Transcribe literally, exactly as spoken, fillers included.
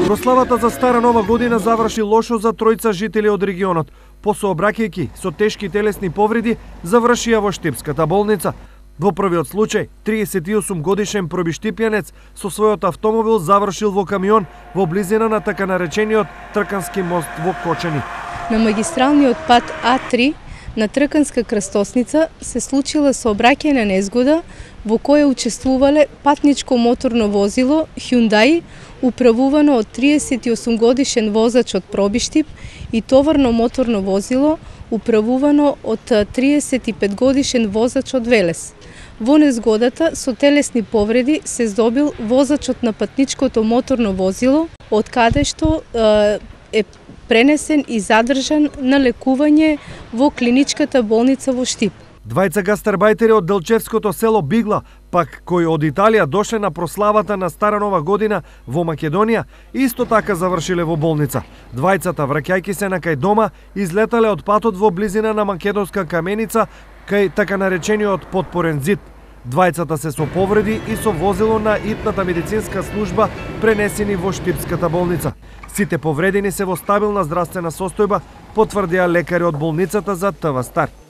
Прославата за Стара Нова година заврши лошо за тројца жители од регионот. По сообраќајки со тешки телесни повреди завршија во Штипската болница. Во првиот случај, триесет и осум годишен пробиштипјанец со својот автомобил завршил во камион во близина на така наречениот Тркански мост во Кочани. На магистралниот пат А три на Трканска крстосница се случила сообраќајна незгода во која учествувале патничко моторно возило Hyundai управувано од триесет и осум годишен возач од Пробиштип и товарно моторно возило управувано од триесет и пет годишен возач од Велес. Во незгодата со телесни повреди се здобил возачот на патничкото моторно возило, од каде што е пренесен и задржан на лекување во клиничката болница во Штип. Двајца гастарбајтери од Делчевското село Бигла, пак кои од Италија дошле на прославата на Стара Нова година во Македонија, исто така завршиле во болница. Двајцата, враќајќи се на кај дома, излетале од патот во близина на Македонска каменица, кај така наречениот Потпорен зид. Двајцата се со повреди и со возило на итната медицинска служба пренесени во Штипската болница. Сите повредени се во стабилна здравствена состојба, потврдија лекари од болницата за ТВ Стар.